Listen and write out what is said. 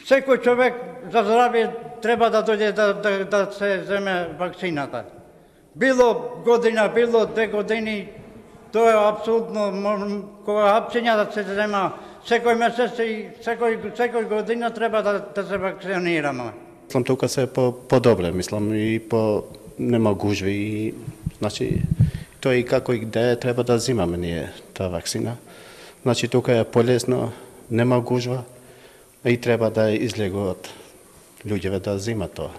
Секој човек за здравје треба да дојде да се земе вакцината. Било година, било 2 години, тоа е апсолутно, кога апцина да се зема секој месец и секој година треба да се вакцинираме. Мислам тука се по-добре, мислам и нема гужви и значи тоа и како и где треба да земаме ние таа вакцина. Значи тука е полесно, нема гужва и треба да излегуваат луѓето да земат тоа.